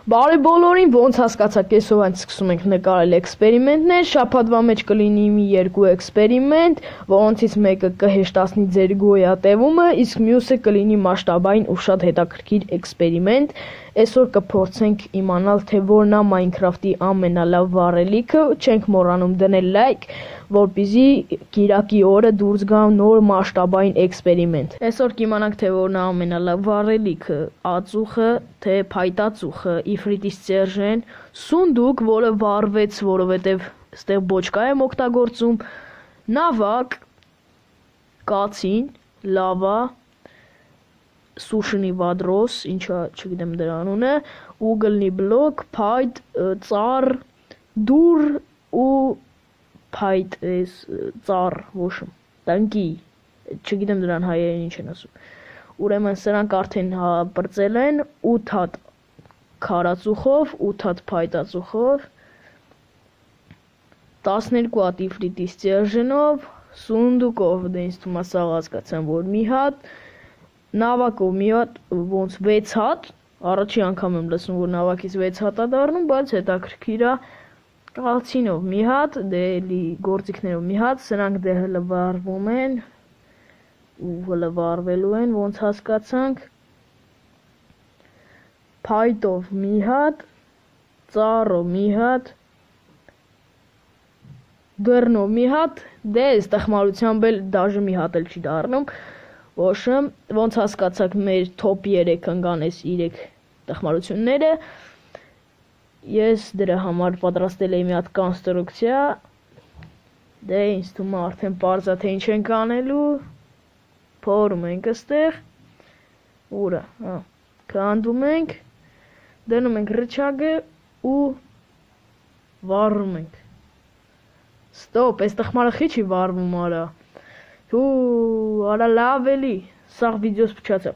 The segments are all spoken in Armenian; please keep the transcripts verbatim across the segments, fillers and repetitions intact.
Բարի բոլորին, ոնց հասկացաք, այսօր այն սկսում ենք նկարել էքսպերիմենտներ, շաբաթվա մեջ կլինի մի երկու էքսպերիմենտ, որոնցից մեկը կհեշտացնի ձեր գոյատևումը, իսկ մյուսը կլինի մասշտաբային ու շատ հետաքրքիր էքսպերիմենտ։ Այսօր կփորձենք իմանալ, թե որն է Minecraft-ի ամենալավ վառելիքը, չենք մոռանում դնել լայք, որպեսզի կիրակի օրը դուրս գա նոր մասշտաբային էքսպերիմենտ։ Այսօր կիմանանք, թե որն է ամենալավ վառելիքը, ածուխը, թե փայտածուխը, իֆրիտի Սերժեն, սունդուկ, որը վառվեց, որովհետև այստեղ բոճկա եմ օգտագործում, նավակ, կացին, լավա, սուշնի վադրոս, ինչա չգիտեմ դրա անունը, ուգլնի բլոկ, փայտ, ծառ, դուր ու փայտ էս ծառ, ոშմ, տանկի, չգիտեմ դրան հայերեն ինչ են ասում։ Ուրեմն սրանք արդեն պրծել են ութ հատ քարածուխով, ութ հատ փայտածուխով, տասներկու հատ իֆրիտի Սերժենով, սունդուկով, դե ինձ թվում է սաղ հասկացան, որ մի հատ, նավակով մի հատ, ոնց վեց հատ, առաջի անգամ եմ լսում, որ նավակից վեց հատ է դառնում, բայց հետաքրքիր է, կալցինով մի հատ, դե էլի գործիքներով մի հատ, սրանք դե հլը վառվում են, ու հլը վառվելու են, ոնց հասկացանք, փայտով մի հատ, ծառով մի հատ, դռնով մի հատ, դե այս տխմարությամբ էլ դաժե մի հատ էլ չի դառնում, ոշմ, ոնց հասկացաք մեր թոփ երեք ընկան այս երեք տխմարությունները, ես դրա համար պատրաստել էի մի հատ կոնստրուկցիա, դե ինձ թվում է արդեն պարզ է թե ինչ ենք անելու, փորում ենք այստեղ, ուրա, հա, քանդում ենք, դնում ենք ռычագը ու վառում ենք։ Ստոպ, այս տխմարը խի չի վառվում արա։ Ու արա լավ էլի, սաղ վիդեոս փչացա։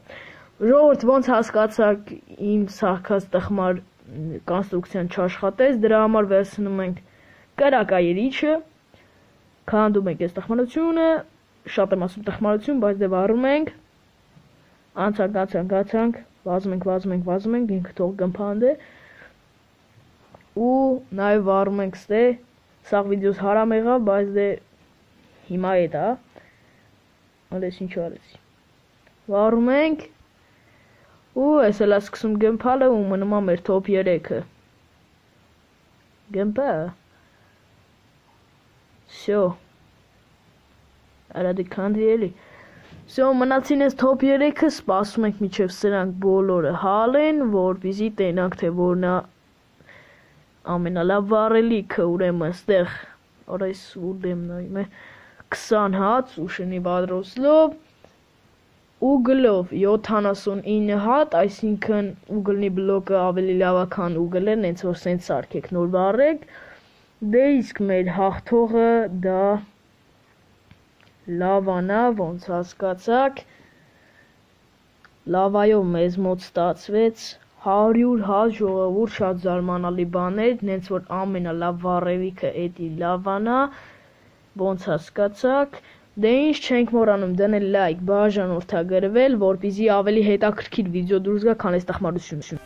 Ժողովուրդ, ոնց հասկացաք իմ սաղքած տխմար կոնստրուկցիան չաշխատեց, դրա համար վերցնում ենք կրակայերիչը, քանդում ենք այս տխմարությունը, շատ եմ ասում տխմարություն, բայց դե վառում ենք, անցանք, անցանք, անցանք, վազում ենք, վազում ենք, վազում ենք, ինքը թող գմփանդե, ու նաև վառում ենք ստե, սաղ վիդեոս հարամ եղավ, բայց դե հիմա էդ է, ալես ինչ արեցի, վառում ենք, ու ես էլ սկսում գմփալը ու մնում է մեր թոփ երեքը, գմփա, սյո, արա դի քանդի էլի, սյո մնացին ես թոփ երեքը, սպասում ենք միջև սրանք բոլորը հալեն, որպեսզի տենանք թե որն է ամենալավ վառելիքը, ուրեմն ստեղ, արայս ուդեմ նայում է, քսան հատ սուշնի վադրոսլով, ուգլով յոթանասունինը հատ, այսինքն ուգլնի բլոկը ավելի լավ է, քան ուգլը, նենց որ սենց սարքեք նոր վառեք, դե իսկ մեր հաղթողը դա լավան է, ոնց հասկացաք, լավայով մեզ մոտ ստացվեց, հարյուր հատ ժողովուրդ, շատ զարմանալի բաներ, նենց որ ամենալավ վառելիքը էդի լավան է, ոնց հասկացաք, դե ինչ չենք մոռանում դնել լայք, բաժանորդագրվել, որպեսզի ավելի հետաքրքիր վիդեո դուրս գա, քան այս տխմարությունը։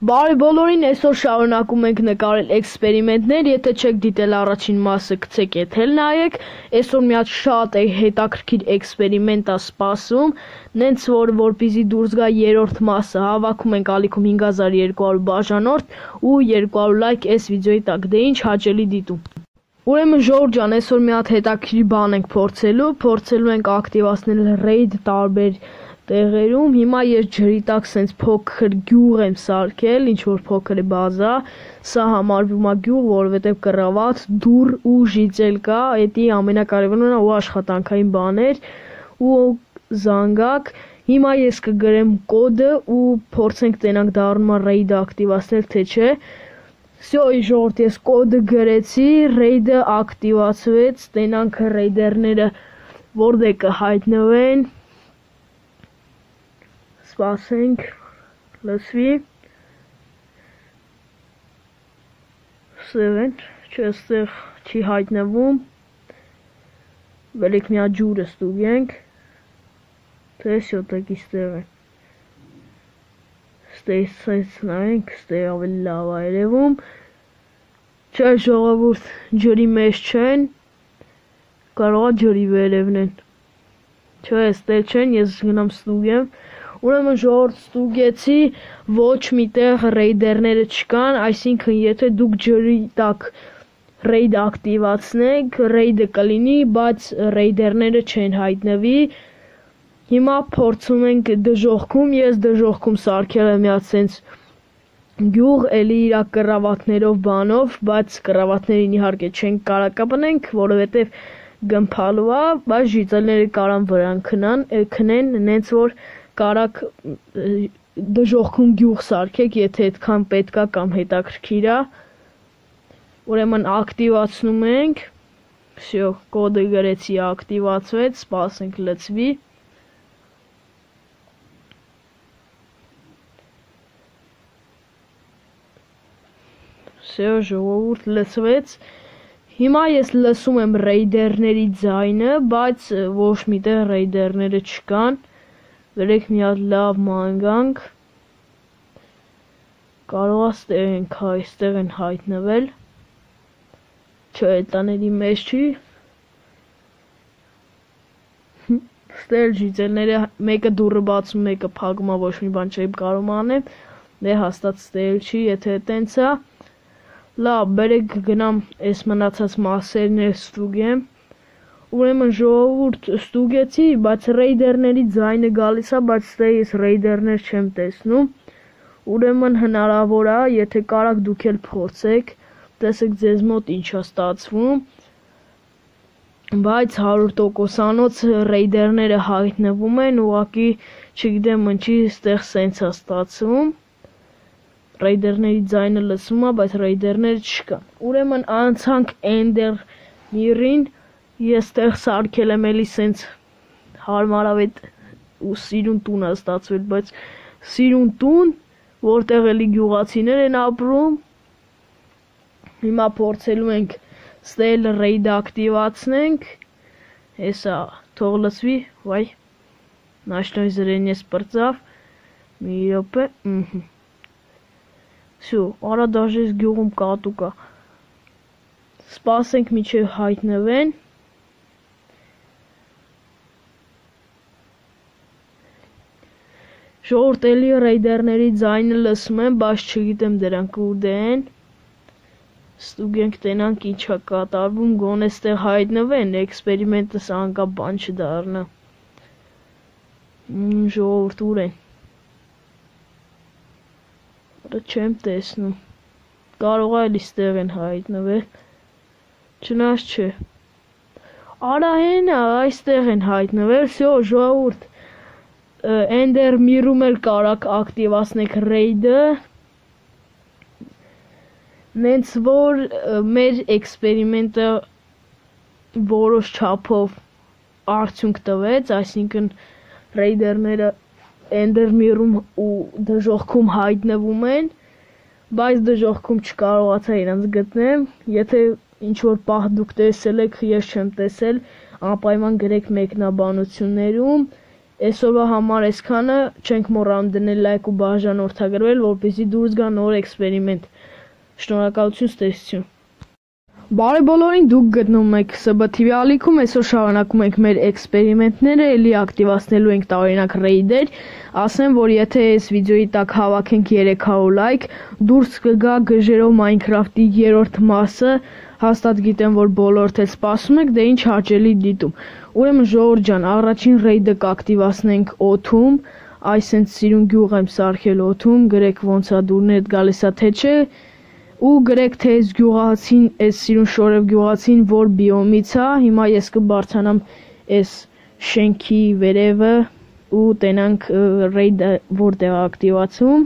Բարի բոլորին, այսօր շարունակում ենք նկարել էքսպերիմենտներ, եթե չեք դիտել առաջին մասը, գցեք եթել նայեք, այսօր մի հատ շատ է հետաքրքիր էքսպերիմենտ է սպասում, նենց որ որպեսզի դուրս գա երրորդ մասը, հավաքում ենք ալիքում հինգ հազար երկու հարյուր բաժանորդ ու երկու հարյուր լայք այս վիդեոյի տակ, դե ինչ հաճելի դիտում։ Ուրեմն ժողովուրդ ջան, այսօր մի հատ հետաքրքիր բան ենք փորձելու, փորձելու ենք ակտիվացնել ռեյդ տարբեր տեղերում, հիմա ես ջրի տակ սենց փոքր գյուղ եմ սարքել, ինչ որ փոքր է բազա, սա համարվում է գյուղ, որովհետև կռավատ, դուռ ու ժիծել կա, էդի ամենակարևորն ու աշխատանքային բաներ ու զանգակ, հիմա ես կգրեմ կոդը ու փորձենք տենանք դառնում է ռեյդը ակտիվացնել, թե չէ, սյո ժողովուրդ, ես կոդը գրեցի, ռեյդը ակտիվացվեց, տենանք ռեյդերները որտեղ կհայտնվեն, սպասենք, լսվի, սևեն, չէ ստեղ չի հայտնվում, վելիք մի հատ ջուրը ստուգենք, Թե շոտակի ստեղ են։ Ստեղ սենց նայենք, ստեղ ավելի լավ է երևում։ Չէ ժողովուրդ, ջրի մեջ չեն, կարող է ջրի վերևն են։ Չէ, ստեղ չեն, ես գնամ ստուգեմ։ Ուրեմն ժողովուրդ ստուգեցի, ոչ միտեղ ռեյդերները չկան, այսինքն եթե դուք ջրի տակ ռեյդ ակտիվացնեք, ռեյդը կլինի, բայց ռեյդերները չեն հայտնվի։ Հիմա փորձում ենք դժոխքում, ես դժոխքում սարքել եմ մի հատ սենց գյուղ, էլի իրա կռավատներով բանով, բայց կռավատներին իհարկե չենք կարա կպնենք, որովհետև գմփալու է, բայց ժիծելները կարան վրան քնան, քնեն, նենց որ կարաք դժոխքում գյուղ սարքեք, եթե այդքան պետքա կամ հետաքրքիր է։ Ուրեմն ակտիվացնում ենք, всё, կոդը գրեցի, ակտիվացվեց, սպասենք լցվի։ Всё, ժողովուրդ լցվեց։ Հիմա ես լսում եմ ռեյդերների ձայնը, բայց ոչ միտեղ ռեյդերները չկան։ Գրեք մի հատ լավ մանգանք։ Կարող է ստեղ ենք, այստեղ են հայտնվել։ Չէ, տաների մեջ չի։ Ստեղ ժիծելները մեկը դուռը բացում, մեկը փակում, ոչ մի բան չեմ կարող անեմ։ Դե հաստատ ստեղ չի, եթե տենց է։ Լավ, բերեք գնամ այս մնացած մասերն էլ ստուգեմ։ Ուրեմն ժողովուրդ ստուգեցի, բայց ռեյդերների ձայնը գալիս է, բայց ստեղ ես ռեյդերներ չեմ տեսնում։ Ուրեմն հնարավոր է, եթե կարաք դուք էլ փորձեք, տեսեք ձեզ մոտ ինչ է ստացվում։ Բայց հարյուր տոկոսանոց ռեյդերները հայտնվում են, ուղղակի չգիտեմ ինչի ստեղ սենց է ստացվում։ Ռեյդերների ձայնը լսում է, բայց ռեյդերները չկան։ Ուրեմն անցանք Ender Mirror-ին, ես ստեղ սարքել եմ էլի սենց հարմարավետ ու սիրուն տուն է ստացվել, բայց սիրուն տուն, որտեղ էլի գյուղացիներ են ապրում։ Հիմա փորձելու ենք ստել ռեյդը ակտիվացնենք։ Հեսա թող լսվի, վայ։ Նաշնոյ զրենյես պրծավ։ Մի րոպե, ըհը։ Всё, արա դաժե գյուղում կատու կա։ Սպասենք մինչև հայտնվեն։ Ժողովուրդ էլի ռեյդերների ձայնը լսում եմ, բայց չգիտեմ դրանք ուր են։ Ստուգենք տենանք ինչ է կատարվում, գոնե ստեղ հայտնվեն, էքսպերիմենտս անկա բան չդառնա։ Ժողովուրդ ուր են։ Չեմ տեսնում։ Կարող է էլի ստեղ են հայտնվել։ Չնայած չէ։ Արա հենա, այստեղ են հայտնվել, всё, ժողովուրդ։ Ender Mirror-ում էլ կարաք ակտիվացնեք ռեյդը։ Նենց որ մեր էքսպերիմենտը որոշ չափով արդյունք տվեց, այսինքն ռեյդերները Ender Mirror-ում ու դժոխքում հայտնվում են, բայց դժոխքում չկարողացա իրանց գտնեմ։ Եթե ինչ-որ պահ դուք տեսել եք, ես չեմ տեսել, անպայման գրեք մեկնաբանություններում։ Այսօրվա համար այսքանը, չենք մոռանում դնել լայք ու բաժանորդագրվել, որպեսզի դուրս գա նոր էքսպերիմենտ։ Շնորհակալություն, ստեսություն։ Բարի բոլորին, դուք գտնվում եք S B T V ալիքում, այսօր շարունակում ենք մեր էքսպերիմենտները, էլի ակտիվացնելու ենք տարօրինակ ռեյդեր, ասեմ, որ եթե այս վիդեոյի տակ հավաքենք երեք հարյուր լայք, դուրս կգա գժերով Minecraft-ի երրորդ մասը, հաստատ գիտեմ, որ բոլորդ էլ սպասում եք, դե ինչ հաճելի դիտում։ Ուրեմն ժողովուրդ ջան, առաջին ռեյդը կակտիվացնենք օդում, այսենց սիրուն գյուղ եմ սարքել օդում, գրեք ոնց է դուրներդ գալիս է թե չէ։ Ու գրեք թե այս գյուղացին, այս սիրուն շորև գյուղացին որ բիոմից է, հիմա ես կբարձրանամ այս շենքի վերևը ու տենանք ռեյդը որտեղ ակտիվացում։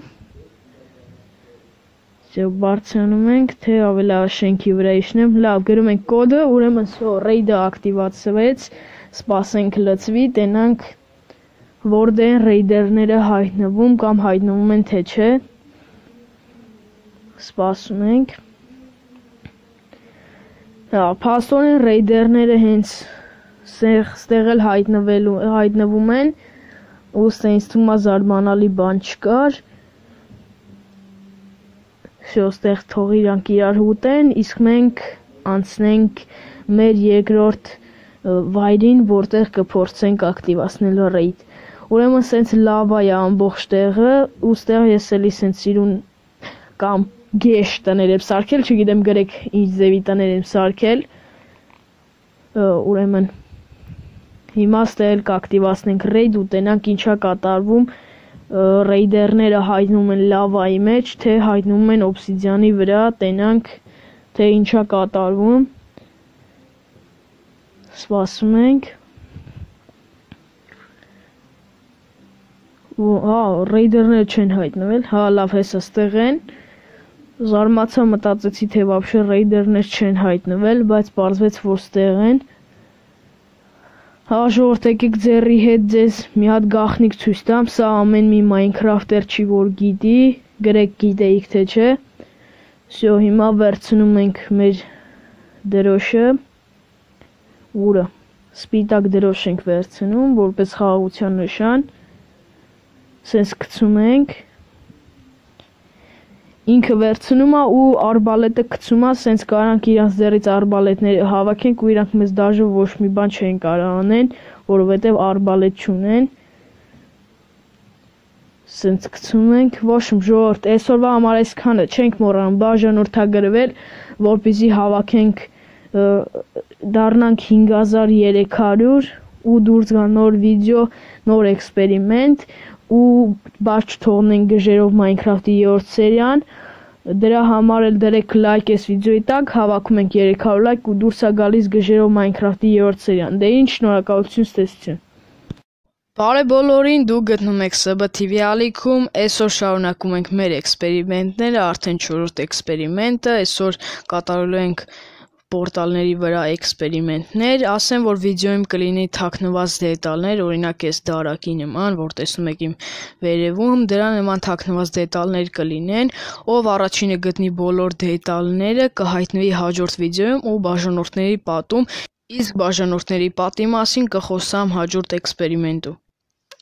Всё, բարձրանում ենք, թե ավելի շենքի վրա իջնեմ, լավ, գրում ենք կոդը, ուրեմն սո ռեյդը ակտիվացվեց, սպասենք լցվի, տենանք որտեղ են ռեյդերները հայտնվում կամ հայտնվում են թե չէ։ Սպասում ենք։ Հա, փաստորեն ռեյդերները հենց ստեղ էլ հայտնվելու հայտնվում են, ուստի ինձ թվում է զարմանալի բան չկար։ Շոստեղ թող իրանք իրար ուտեն, իսկ մենք անցնենք մեր երկրորդ վայրին, որտեղ կփորձենք ակտիվացնել ռեյդ։ Ուրեմն սենց լավա է ամբողջ տեղը, ուստեղ ես էլի սենց իրուն կամ գեշ տներ եմ սարքել, չգիտեմ գրեք ինչ ձևի տներ եմ սարքել։ Ուրեմն հիմա ստել կակտիվացնենք ռեյդ ու տենանք ինչա կատարվում, ռեյդերները հայտնում են լավայի մեջ, թե հայտնում են օբսիդիանի վրա, տենանք թե ինչա կատարվում։ Սպասում ենք։ Հա, ռեյդերները չեն հայտնվել, հա լավ հեսա ստեղ են։ Զարմացա, մտածեցի թե вообще ռեյդերներ չեն հայտնվել, բայց պարզվեց որ ստեղ են։ Հա ժողովուրդ, եկեք ձեռի հետ ձեզ մի հատ գաղտնիք ցույց տամ, սա ամեն մի Minecraft-էր չի որ գիտի, գրեք գիտեիք թե չէ։ Всё, հիմա վերցնում ենք մեր դրոշը, ուրը սպիտակ դրոշ ենք վերցնում, որպես խաղաղության նշան, սենց գցում ենք, ինքը վերցնում է ու արբալետը գցում է, սենց կարանք իրանց ձեռից արբալետները հավաքենք ու իրանք մեզ դաժե ոչ մի բան չեն կարող անեն, որովհետև արբալետ չունեն։ Սենց գցում ենք, ոչ ժողովուրդ, այսօրվա համար այսքանը չենք մոռանում բաժանորդագրվել, որպեսզի հավաքենք դառնանք հինգ հազար երեք հարյուր ու դուրս գա նոր վիդեո, նոր էքսպերիմենտ ու բաց չթողնենք գժերով Minecraft-ի երրորդ սերիան, դրա համար էլ դրեք լայք այս վիդեոյի տակ, հավաքում ենք երեք հարյուր լայք ու դուրս է գալիս գժերով Minecraft-ի երրորդ սերիան։ Դե ինչ, շնորհակալություն, ստեսություն։ Բարև բոլորին, դուք գտնում եք S B T V ալիքում, այսօր շարունակում ենք մեր էքսպերիմենտները, արդեն չորրորդ էքսպերիմենտը, այսօր կատարելու ենք պորտալների վրա էքսպերիմենտներ, ասեմ, որ վիդեոյում կլինի թաքնված դետալներ, օրինակ այս դարակի նման, որ տեսնում եք իմ վերևում, դրա նման թաքնված դետալներ կլինեն, ով առաջինը գտնի բոլոր դետալները, կհայտնվի հաջորդ վիդեոյում ու բաժանորդների պատում, իսկ բաժանորդների պատի մասին կխոսամ հաջորդ էքսպերիմենտում։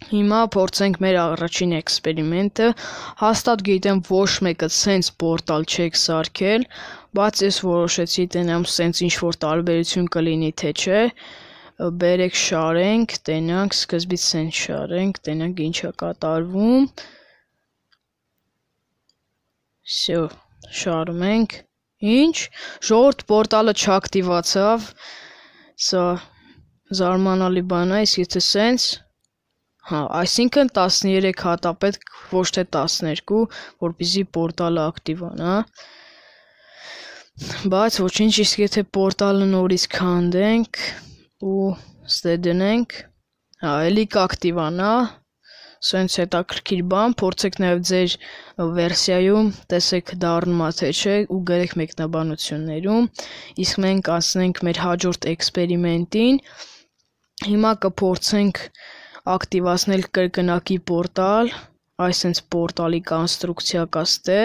Հիմա փորձենք մեր առաջին էքսպերիմենտը, հաստատ գիտեմ ոչ մեկը սենց պորտալ չեք սարքել, բայց ես որոշեցի տենամ սենց ինչ-որ տարբերություն կլինի թե չէ, բերեք շարենք, տենանք, սկզբից սենց շարենք, տենանք ինչ է կատարվում, всё, շարում ենք, ինչ, ժողովուրդ պորտալը չակտիվացավ, սա զարմանալի բան է, իսկ եթե սենց Հա, այսինքն տասներեք հատ է պետք, ոչ թե տասներկու, որպեսզի պորտալը ակտիվանա։ Բայց ոչինչ, իսկ եթե պորտալը նորից քանդենք ու ստե դնենք, հա, էլի կակտիվանա, սենց հետաքրքիր բան, փորձեք նաև ձեր վերսիայում, տեսեք դառնում է թե չէ ու գրեք մեկնաբանություններում, իսկ մենք անցնենք մեր հաջորդ էքսպերիմենտին, հիմա կփորձենք ակտիվացնել կրկնակի պորտալ, այսենց պորտալի կոնստրուկցիա կա ստե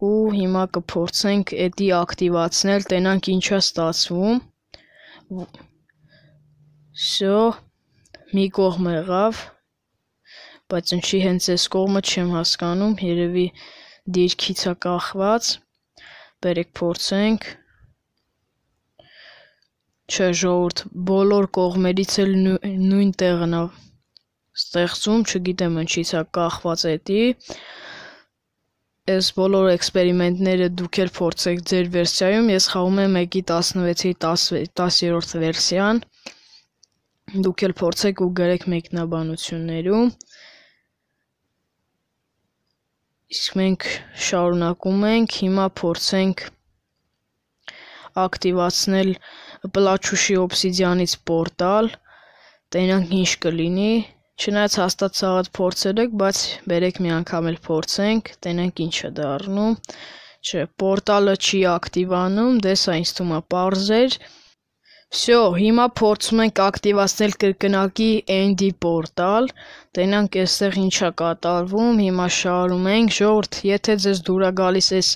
ու հիմա կփորձենք էդի ակտիվացնել, տենանք ինչա ստացվում։ Всё, մի կողմ եղավ, բայց ինչի հենց այս կողմը չեմ հասկանում, երևի դիրքից է կախված, բերեք փորձենք։ Չէ, ժողովուրդ, բոլոր կողմերից էլ նույն տեղն է ստեղծում, չգիտեմ ինչից է կախված էդի, այս բոլոր էքսպերիմենտները դուք էլ փորձեք ձեր վերսիայում, ես խաղում եմ մեկի տասնվեցի տասերորդ վերսիան, դուք էլ փորձեք ու գրեք մեկնաբանություններում, իսկ մենք շարունակում ենք, հիմա փորձենք ակտիվացնել պլաչուշի օբսիդիանից պորտալ, տենանք ինչ կլինի, չնայած հաստատ սաղատ փորձել եք, բայց բերեք մի անգամ էլ փորձենք, տենանք ինչ է դառնում, չէ, պորտալը չի ակտիվանում, դե սա ինձ թվում է պարզ էր, всё, հիմա փորձում ենք ակտիվացնել կրկնակի էնդի պորտալ, տենանք այստեղ ինչ է կատարվում, հիմա շարում ենք, ժողովուրդ, եթե ձեզ դուր է գալիս այս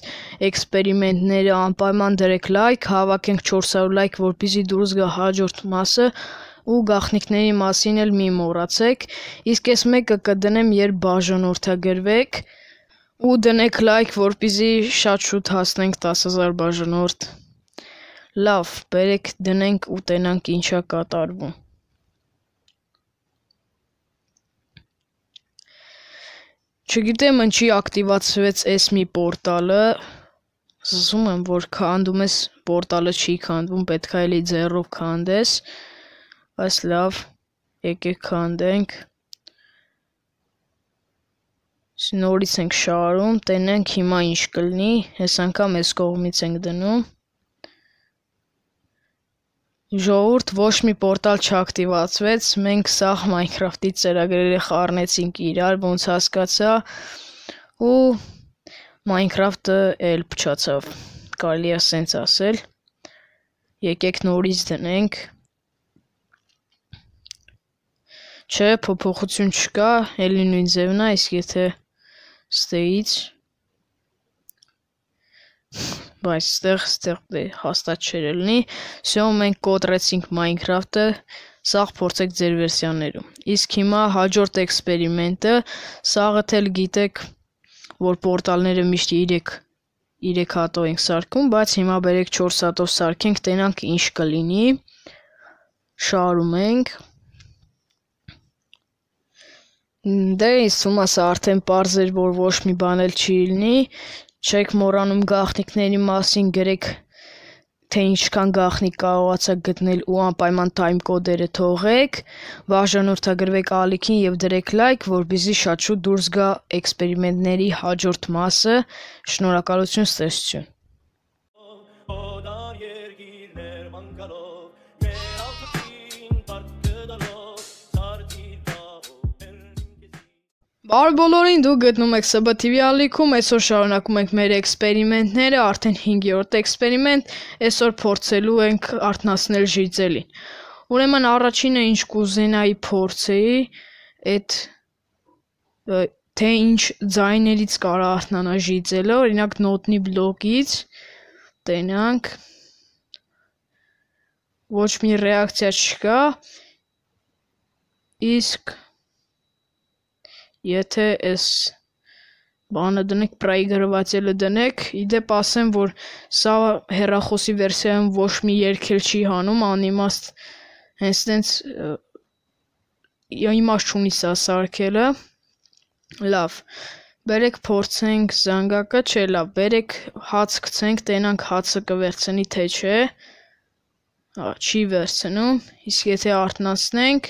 էքսպերիմենտները անպայման դրեք լայք, հավաքենք չորս հարյուր լայք, որպեսզի դուրս գա հաջորդ մասը, ու գաղտնիքների մասին էլ մի մոռացեք, իսկ այս մեկը կդնեմ, երբ բաժանորդագրվեք, ու դնեք լայք, որպեսզի շատ շուտ հասնենք տասը հազար բաժանորդ։ Լավ, բերեք դնենք ու տենանք ինչա կատարվում։ Չգիտեմ ինչի ակտիվացվեց այս մի պորտալը, զգում եմ, որ քանդում ես պորտալը չի քանդվում, պետք է էլի ձեռով քանդես, բայց լավ, եկեք քանդենք, նորից ենք շարում, տենենք հիմա ինչ կլինի, այս անգամ այս կողմից ենք դնում, ժողովուրդ ոչ մի պորտալ չակտիվացվեց, մենք սաղ Minecraft-ի ծրագրերը խառնեցինք իրար, ոնց հասկացա, ու Minecraft-ը էլ փչացավ, կարելի է սենց ասել, եկեք նորից դնենք, չէ, փոփոխություն չկա, էլի նույն ձևն է, իսկ եթե ստեից, բայց ստեղ, ստեղ հաստատ չէր լինի, սյո մենք կոտրեցինք Minecraft-ը, սաղ փորձեք ձեր վերսիաներում, իսկ հիմա հաջորդ էքսպերիմենտը, սաղը էլ գիտեք, որ պորտալները միշտ երեք հատով ենք սարքում, բայց հիմա բերեք չորս հատով սարքենք, տենանք ինչ կլինի, շարում ենք, դե ինձ թվում է սա արդեն պարզ էր, որ ոչ մի բան էլ չի լինի, չեք մոռանում գաղտնիքների մասին գրեք, թե ինչքան գաղտնիք կարողացաք գտնել ու անպայման time կոդերը թողեք, բաժանորդագրվեք ալիքին և դրեք լայք, որպեսզի շատ շուտ դուրս գա էքսպերիմենտների հաջորդ մասը, շնորհակալություն, ստեսություն։ Բարև բոլորին, դուք գտնում եք Ս Բ Թ V ալիքում, այսօր շարունակում ենք մեր էքսպերիմենտները, արդեն հինգերորդ էքսպերիմենտ, այսօր փորձելու ենք արթնացնել ժիծելին։ Ուրեմն առաջինը ինչ կուզենայի փորձեի, այդ թե ինչ ձայներից կարա արթնանա ժիծելը, օրինակ նոտնի բլոկից, տենանք, ոչ մի ռեակցիա չկա, իսկ եթե այս բանը դնեք, պրայգրվածելը դնեք, իդեպ ասեմ, որ սա հեռախոսի վերսիայում ոչ մի երգ էլ չի հանում, անիմաստ հենց տենց իմաստ չունի սա սարքելը, լավ, բերեք փորձենք զանգակը, չէ լավ, բերեք հաց գցենք, տենանք հացը կվերցնի, թե չէ, չի վերցնում, իսկ եթե արթնացնենք,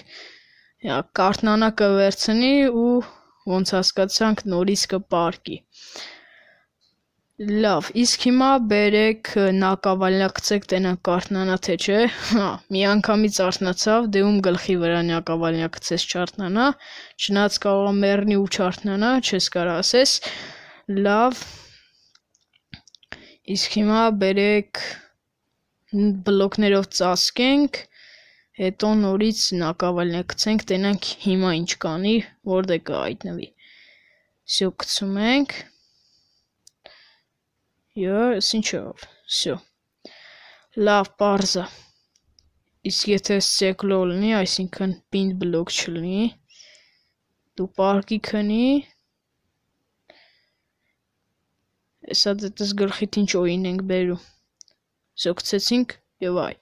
կարթնանա կվերցնի ու ոնց հասկացանք նորից կպարկի, լավ, իսկ հիմա բերեք նակավալյակցեք, տենանք կարթնանա թե չէ, մի անգամից արթնացավ, դե ում գլխի վրա նակավալյակցես չարթնանա, չնայած կարող է մեռնի ու չարթնանա, չես կարա ասես, լավ, իսկ հիմա բերեք բլոկներով ծածկենք, հետո նորից նակավալյակցենք, տենանք հիմա ինչ կանի, որտեղ կհայտնվի, սյո գցում ենք, ես ինչ ով, սյո, լավ պարզ է, իսկ եթե սեկլո լինի, այսինքն պինդ բլոկ չլինի, դու պարկի քնի, էսա դետս գլխիտ ինչ օին ենք բերու, սյո գցեցինք և այ,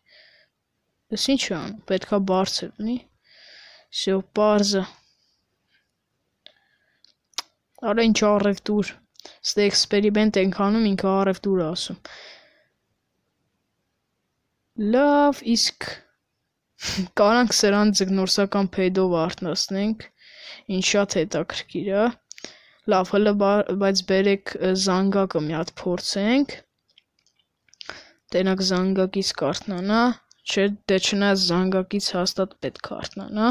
Ես ինչ է անում, պետք է բարձր լինի, սյո պարզը, արա ինչ առևտուր, ստե էքսպերիմենտ ենք անում, ինքը առևտուր ասում, լավ, իսկ կարանք սրան ձգնորսական փեդով արթնացնենք, ինչ շատ հետաքրքիր է, լավ, հլը բայց բերեք զանգակը մի հատ փորձենք, տենակ զանգակից կարթնանա, չէ, դե չնայած զանգակից հաստատ պետք է արթնանա,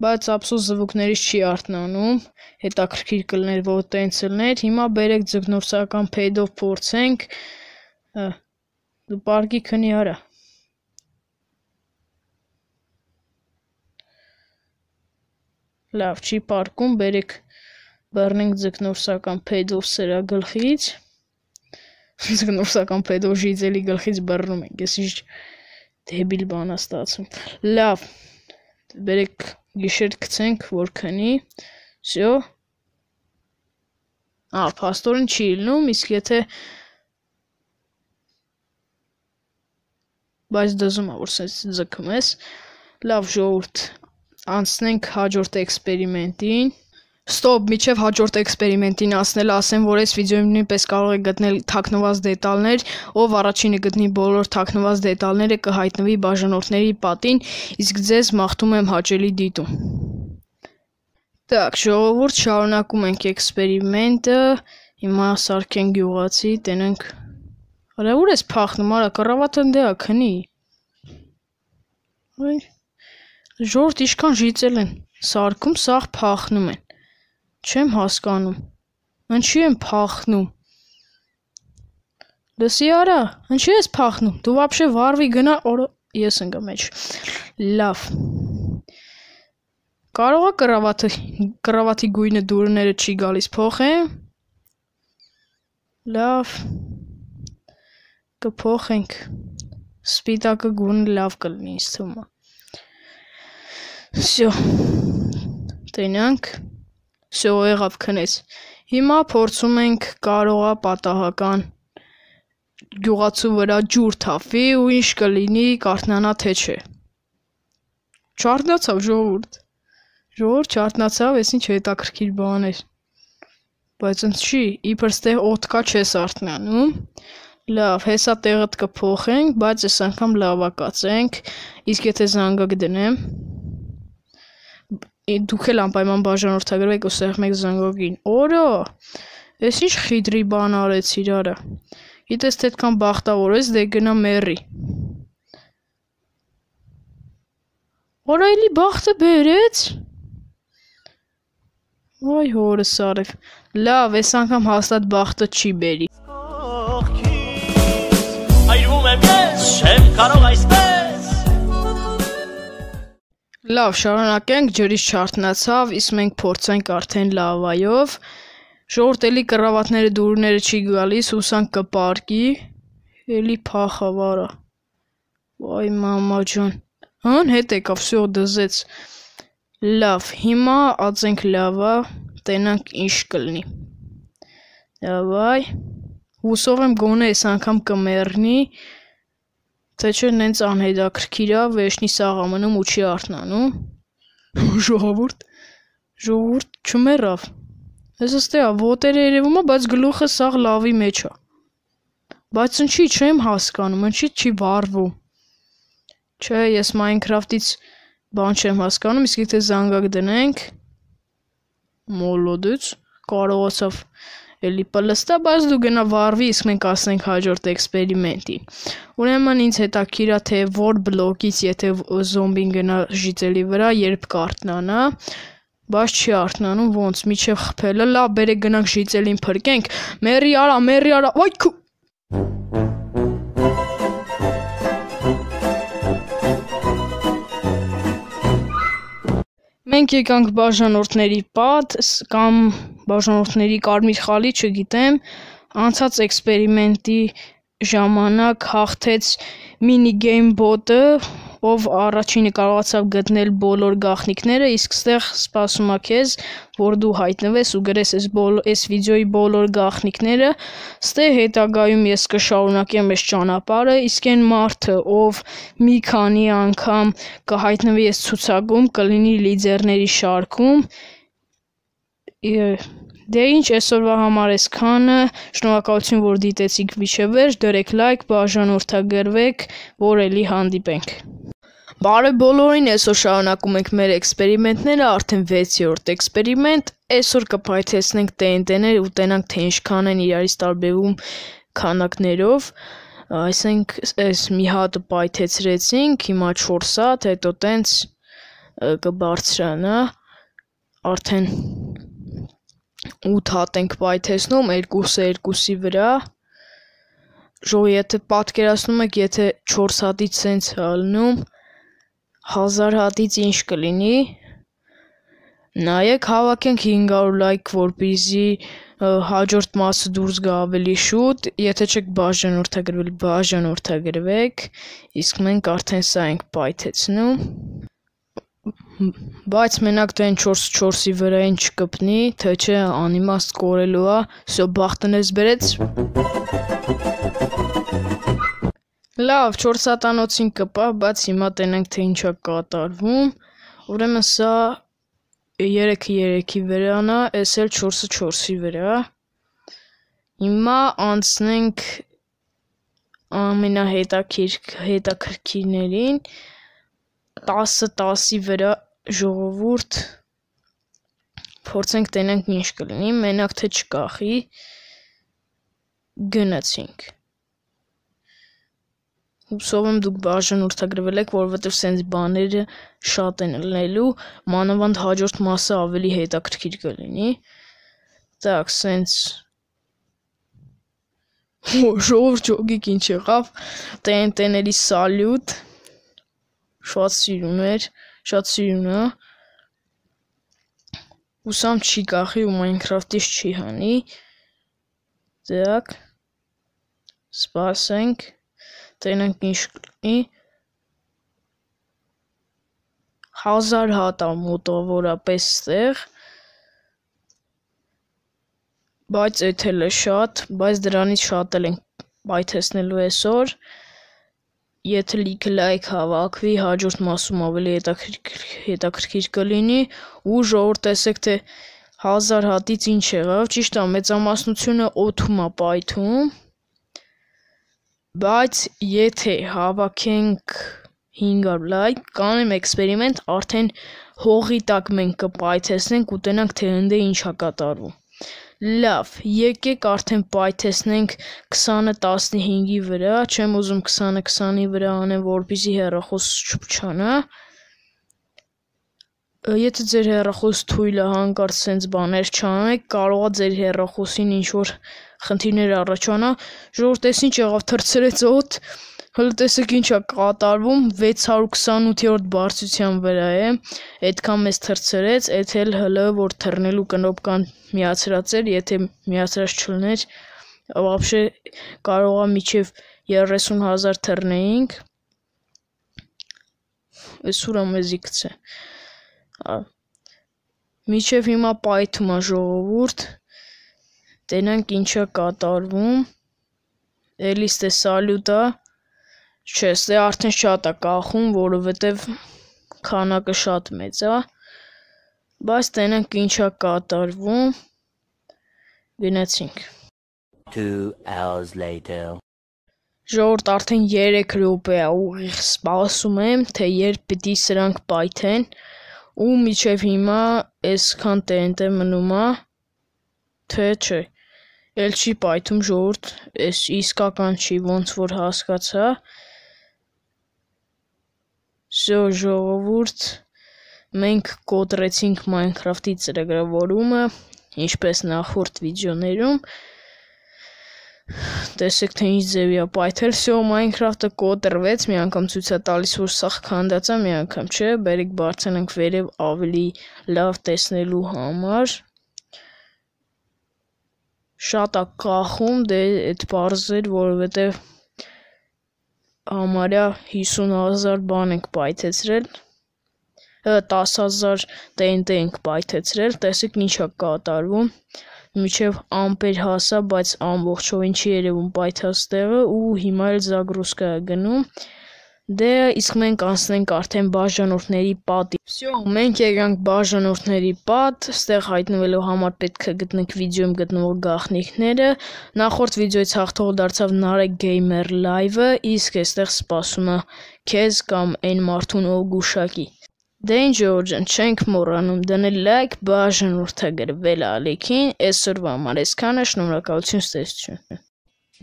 բայց ափսոս զվուկներից չի արթնանում, հետաքրքիր կլներ, որ տենց լներ, հիմա բերեք ձգնորսական փեդով փորձենք, դու պարկի քնի արա, լավ, չի պարկում, բերեք բռնենք ձգնորսական փեդով սրա գլխից, ձգնորսական փեդով ժիծելի գլխից բռնում ենք, ես ինչ դեբիլ բան է ստացվում, լավ, Բերեք գիշեր գցենք, որ քնի։ Всё։ Ա, փաստորեն չի ելնում, իսկ եթե բայց դզում է, որ սենց ձգում ես։ Լավ ժողովուրդ, անցնենք հաջորդ էքսպերիմենտին։ Ստոպ, միջև հաջորդ էքսպերիմենտին ասնել, ասեմ, որ այս վիդեոյում նույնպես կարող եք գտնել թաքնված դետալներ, ով առաջինը գտնի բոլոր թաքնված դետալները կհայտնվի բաժանորդների պատին, իսկ ձեզ մաղթում եմ հաճելի դիտում։ Так, ժողովուրդ, շարունակում ենք էքսպերիմենտը, հիմա սարքենք գյուղացի, տենենք։ Արա ուր ես փախնում, արա կռավատը ընդ է քնի։ Ժողովուրդ ինչքան ժիծել են սարքում, սաղ փախնում են։ Չեմ հասկանում։ Ինչի եմ փախնում։ Լսի արա, ինչի ես փախնում։ Դու вообще վարվի գնա, օր ես ընկա մեջ։ Լավ։ Կարող է կռավատը, կռավատի գույնը դուրները չի գալիս փոխեմ։ Լավ։ Կփոխենք։ Սպիտակը գույնը լավ կլինի, ինձ թվում է։ Всё։ Տենանք։ Всё, եղավ քնեց։ Հիմա փորձում ենք կարողա պատահական գյուղացու վրա ջուր թափվի ու ինչ կլինի, կարթնանա թե չէ։ Չարտնացավ ժողովուրդ։ Ժողովուրդ չարտնացավ, ես ինչ հետաքրքիր բան էր։ Բայց ընդ չի, իբր ստեղ օդ կա չես արթնանում։ Լավ, հեսա տեղդ կփոխենք, բայց այս անգամ լավակացենք, իսկ եթե զանգակ դնեմ, դուք էլ անպայման բաժանորդագրվեք ու սեղմեք զանգակին։ Օրո, ես ինչ խիտրի բան արեցիր արա։ Գիտես թե այդքան բախտավոր ես, դե գնա մեռի։ Օրա էլի բախտը բերեց։ Ոայ հորս արև։ Լավ, այս անգամ հաստատ բախտը չի բերի։ Այրվում եմ ես, չեմ կարող այսպես։ Լավ, շարունակենք, ջրից չարթնացավ, իսկ մենք փորձենք արդեն լավայով։ Ժողովուրդ էլի կռավատները դուրները չի գալիս, հուսանք կպարկի։ Էլի փախավարա։ Վայ մամա ջան։ Հան հետ եկավ, всё դզեց։ Լավ, հիմա ածենք լավա, տենանք ինչ կլինի։ Դավայ։ Հուսով եմ գոնե այս անգամ կմեռնի։ Թե չէ նենց անհետաքրքիր է, վերջնի սաղ ամնում ու չի արթնանում։ Ժողովուրդ, ժողովուրդ չմեռավ։ Ես ստե ոտերը երևում է, բայց գլուխը սաղ լավի մեջ է։ Բայց ինչի չեմ հասկանում, ինչի չի վառվում։ Չէ, ես Minecraft-ից բան չեմ հասկանում, իսկ եթե զանգակ դնենք, մոլոդից կարողացավ էլի պլստա, բայց դու գնա վառվի, իսկ մենք ասենք հաջորդ էքսպերիմենտին։ Ուրեմն ինձ հետաքրքիր է, թե որ բլոկից, եթե զոմբին գնա ժիծելի վրա, երբ կարթնանա, բայց չի արթնանում, ոնց, միջև խփելը, լավ, բերեք գնանք ժիծելին փրկենք, մերի արա, մերի արա, վայ քու։ Մենք եկանք բաժանորդների պատ կամ բաժանորդների կարմիր խալի, չգիտեմ, անցած էքսպերիմենտի ժամանակ հաղթեց մինիգեյմ բոտը, ով առաջինը կարողացավ գտնել բոլոր գաղտնիքները, իսկ ստեղ սպասում է քեզ, որ դու հայտնվես ու գրես այս վիդեոյի բոլոր գաղտնիքները, ստե հետագայում ես կշարունակեմ այս ճանապարհը, իսկ այն մարդը, ով մի քանի անգամ կհայտնվի այս ցուցակում, կլինի լիդերների շարքում։ Դե ինչ, այսօրվա համար այսքանը, շնորհակալություն, որ դիտեցիք մինչև վերջ, դրեք լայք, բաժանորդագրվեք, որ էլի հանդիպենք։ Բարև բոլորին, այսօր շարունակում ենք մեր էքսպերիմենտները, արդեն վեցերորդ էքսպերիմենտ, այսօր կփայթեցնենք T N T-ներ ու տենանք թե ինչքան են իրարից տարբերվում քանակներով, այսինքն այս մի հատը պայթեցրեցինք, հիմա չորս հատ, հետո տենց կբարձրանա, արդեն ութ հատ ենք պայթեցնում, երկուսը երկուսի վրա, ժողովուրդ, եթե պատկերացնում եք, եթե չորս հատից սենց հալնում, հազար հատից ինչ կլինի, նայեք հավաքենք հինգ հարյուր լայք, որպեսզի հաջորդ մասը դուրս գա ավելի շուտ, եթե չեք բաժանորդագրվել, բաժանորդագրվեք, իսկ մենք արդեն սա ենք պայթեցնում, Բայց մենակ թե այն չորս չորսի վրային չկպնի, թե չէ անիմաստ կորելու է, սո բախտնես բերեց։ Լավ, չորս հատանոցին կպա, բայց հիմա տենենք թե ինչ է կատարվում։ Ուրեմն սա երեքը երեքի վրան է, էս էլ չորսը չորսի վրա։ Հիմա անցնենք ամենահետաքրքիրներին, տասը տասի վրա ժողովուրդ, փորձենք տենենք ինչ կլինի, մենակ թե չկախի, գնացինք։ Հուսով եմ դուք բաժանորդագրվել եք, որովհետև սենց բաները շատ են լնելու, մանավանդ հաջորդ մասը ավելի հետաքրքիր կլինի։ Так, սենց ժողովուրդ ջոգիկ ինչ եղավ, տեն-տեների սալյուտ, շատ սիրուն էր, շատ սիրուն է, ուսամ չի կախի ու Minecraft-ից չի հանի, так, սպասենք, տենենք ինչ կլինի, հազար հատ է մոտավորապես ստեղ, բայց էդ էլ է շատ, բայց դրանից շատ էլ ենք պայթեցնելու այսօր, եթե լիքը լայք հավաքվի, հաջորդ մասում ավելի հետաքրքիր կլինի, ու ժողովուրդ տեսեք թե հազար հատից ինչ եղավ, ճիշտ է մեծամասնությունը օդում է պայթում, բայց եթե հավաքենք հինգ հարյուր լայք, կանեմ էքսպերիմենտ, արդեն հողի տակ մենք կպայթեցնենք ու տենանք թե ընդ ինչ է կատարվում։ Լավ, եկեք արդեն պայթեցնենք քսանը տասնհինգի վրա, չեմ ուզում քսանը քսանի վրա անեմ, որպեսզի հեռախոս չփչանա։ Եթե ձեր հեռախոս թույլ է հանկարծ սենց բաներ չանեք, կարող է ձեր հեռախոսին ինչ-որ խնդիրներ առաջանա, ժողովուրդ էս ինչ եղավ, թռցրեց օդ, հələ տեսեք ինչ է կատարվում, վեց հարյուր քսանութերորդ բարձրության վրա է, այդքան մեծ թռցրեց, էդ էլ հələ որ թռնելու կնոպկան միացրած էր, եթե միացրած չլներ, вообще կարող է մինչև երեսուն հազար թռնեինք, էս ուրա մեզի գցե, մինչև հիմա պայթում է ժողովուրդ, տենանք ինչ է կատարվում, էլի ստե սալյուտ է, չէ, ստե արդեն շատ է կախում, որովհետև քանակը շատ մեծ է, բայց տենանք ինչ է կատարվում, գնացինք։ Ժողովուրդ արդեն երեք րոպե է ուղիղ սպասում եմ, թե երբ պիտի սրանք պայթեն, ու մինչև հիմա այսքան տենտե մնում է, թե չէ, էլ չի պայթում ժողովուրդ, այս իսկական չի, ոնց որ հասկացա, Սո ժողովուրդ, մենք կոտրեցինք Minecraft-ի ծրագրավորումը, ինչպես նախորդ վիդեոներում, տեսեք թե ինչ ձևի է պայթել, սո Minecraft-ը կոտրվեց, մի անգամ ցույց է տալիս, որ սա քանդած է, մի անգամ չէ, բերեք բարձրանանք վերև ավելի լավ տեսնելու համար, շատ է կախում, դե այդ պարզ էր, որովհետև համարյա հիսուն հազար բան ենք պայթեցրել, տասը հազար տենտե ենք պայթեցրել, տեսեք ինչ է կատարվում, մինչև ամպեր հասա, բայց ամբողջովին չի երևում պայթած տեղը ու հիմա էլ զագրուսկա է գնում, դե իսկ մենք անցնենք արդեն բաժանորդների պատի։ Всё, մենք եկանք բաժանորդների պատ, ստեղ հայտնվելու համար պետք է գտնենք վիդեոյում գտնվող գաղտնիքները, նախորդ վիդեոյից հաղթող դարձավ Narek Gamer Live-ը, իսկ այստեղ սպասում է քեզ կամ այն մարդուն ով գուշակի։ Դե ինչ ջան, չենք մոռանում դնել լայք, բաժանորդագրվել ալիքին, այսօրվա համար այսքանը, շնորհակալություն, ստեսություն։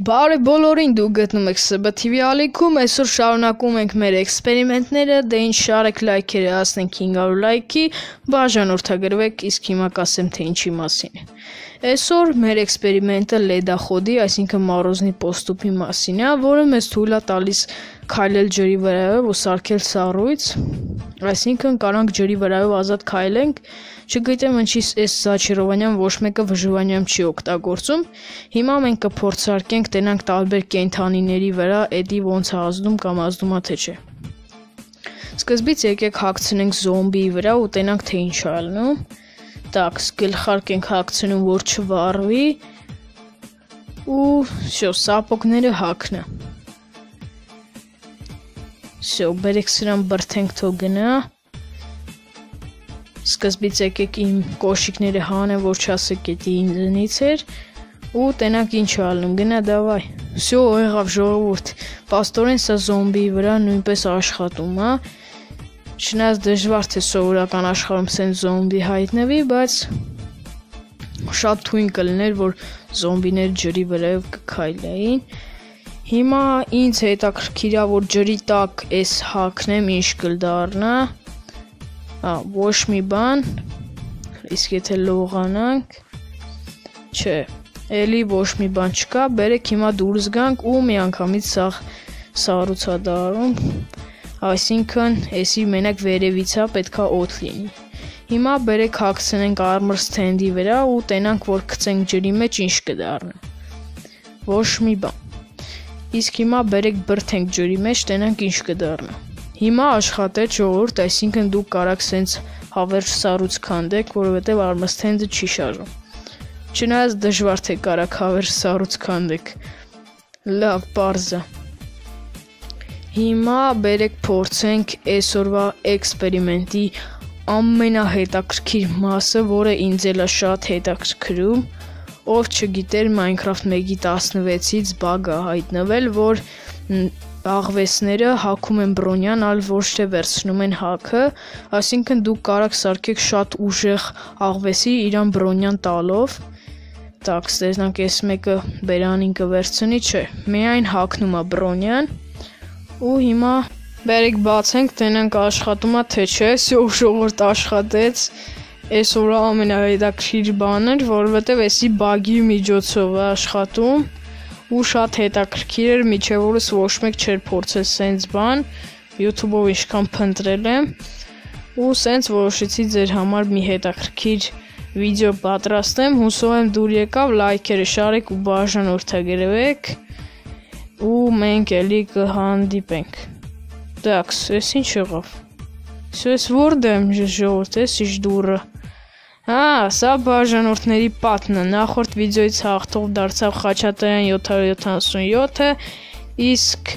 Բարև բոլորին, դուք գտնում եք S B T V ալիքում, այսօր շարունակում ենք մեր էքսպերիմենտները, դե ինչ շարեք լայքերը հասնենք հինգ հարյուր լայքի, բաժանորդագրվեք, իսկ հիմա կասեմ թե ինչի մասին է։ Այսօր մեր էքսպերիմենտը լեդախոդի, այսինքն մառոզնի պոստուպի մասին է, որը մեզ թույլ է տալիս քայլել ջրի վրայով ու սարքել սառույց, այսինքն կարանք ջրի վրայով ազատ քայլենք, չգիտեմ ինչի այս Զաչիրովանյան ոչ մեկը վժվանյամ չի օգտագործում, հիմա մենք կփորձարկենք տենանք տարբեր կենթանիների վրա, էդի ոնց է ազդում կամ ազդում է թե չէ։ Սկզբից եկեք հագցնենք զոմբիի վրա ու տենանք թե ինչ է ալնում։ Так, գլխարկ ենք հագցնում, որ չվառվի ու всё, սապոգները հագնա։ Всё, բերեք սրան բրթենք թող գնա։ Սկզբից եկեք իմ կոշիկները հանեմ, որ չասեք էդի ինձնից էր ու տենանք ինչ է ալնում, գնա դավայ։ Всё, եղավ ժողովուրդ, պաստորեն սա զոմբիի վրա նույնպես աշխատում, հա։ Չնայած դժվար թե սովորական աշխարհում սեն զոմբի հայտնվի, բայց շատ թույն կլիներ, որ զոմբիներ ջրի վրայով կքայլեին։ Հիմա ինձ հետաքրքիր է, որ ջրի տակ էս հագնեմ, ինչ կդառնա։ Ա, ոչ մի բան, իսկ եթե լողանանք, չէ, էլի ոչ մի բան չկա, բերեք հիմա դուրս գանք ու միանգամից սաղ սառուցա դարում, այսինքն էսի մենակ վերևիցա պետքա օդ լինի։ Հիմա բերեք հագցնենք armor stand-ի վրա ու տենանք, որ գցենք ջրի մեջ ինչ կդառնա։ Ոչ մի բան։ Իսկ հիմա բերեք բրթենք ջրի մեջ, տենանք ինչ կդառնա։ Հիմա աշխատեց ժողովուրդ, այսինքն դուք կարաք սենց հավերժ սառույց քանդեք, որովհետև armor stand-ը չի շարժում։ Չնայած դժվար թե կարաք հավերժ սառույց քանդեք։ Լավ, պարզ է։ Հիմա բերեք փորձենք այսօրվա էքսպերիմենտի ամենահետաքրքիր մասը, որը ինձ էլ է շատ հետաքրքրում, ով չգիտեր Minecraft one տասնվեցից բագ է հայտնվել, որ աղվեսները հագում են բրոնյան, այլ ոչ թե վերցնում են հաքը, այսինքն դուք կարաք սարքեք շատ ուժեղ աղվեսի իրան բրոնյան տալով։ Так, ստեզնանք այս մեկը բերանին կվերցնի, չէ, միայն հագնում է բրոնյան ու հիմա բերեք բացենք, տենանք աշխատում է թե չէ, ժողովուրդ աշխատեց, այսօր ամենահետաքրքիր բանը էր, որովհետև էսի բագի միջոցով է աշխատում ու շատ հետաքրքիր էր, միջև օրս ոչ մեկ չէր փորձել սենց բան, YouTube-ով ինչքան փնտրել եմ ու սենց որոշեցի ձեր համար մի հետաքրքիր վիդեո պատրաստեմ, հուսով եմ դուր եկավ, լայքերը շարեք ու բաժանորդագրվեք ու մենք էլի կհանդիպենք։ Так, էս ինչ եղավ։ Ես որդ եմ ժողովուրդ, էս ինչ դուրը։ Հա, սա բաժանորդների պատն է, նախորդ վիդեոից հաղթող դարձավ Խաչատրյան յոթ հարյուր յոթանասունյոթը, իսկ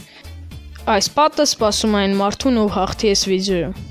այս պատը սպասում այն մարդուն, ով հաղթի այս վիդեոյում։